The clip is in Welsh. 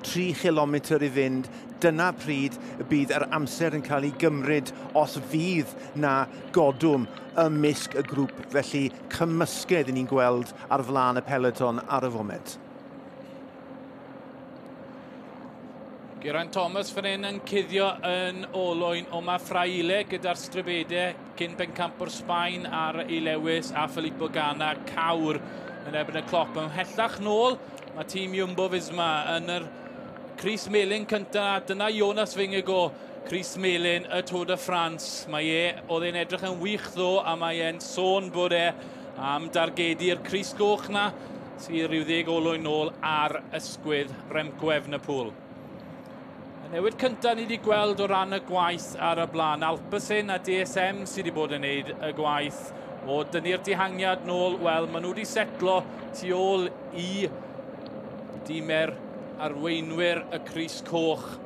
3 chilometr i fynd, dyna pryd y bydd yr amser yn cael ei gymryd os fydd na godwm ymysg y grŵp. Felly cymysgedd i ni'n gweld ar flaen y peloton ar y foment. Geraint Thomas fan hyn yn cuddio yn olwyn Omar Fraile gyda'r stribedau cyn bencampwr Sbaen ar ei lewis a Filippo Ganna cawr yn erbyn y cloc. Ymhellach nôl mae tîm Jumbo Visma yn yr Crys Melyn cyntaf. Dyna Jonas Vingegaard, Crys Melyn y Tour de France. Mae e, oedd e'n edrych yn wych ddo a mae e'n sôn bod e am dargedu'r Crys Goch na sydd rhyw ddeg olwyn nôl ar ysgwydd Remco Evenepoel. Y newid cyntaf ni wedi gweld o ran y gwaith ar y blaen. Alpecin a DSM sydd wedi bod yn neud y gwaith o dynnu'r dihangiad nôl. Wel, maen nhw wedi setlo tu ôl i dimer arweinwyr y Crys Coch.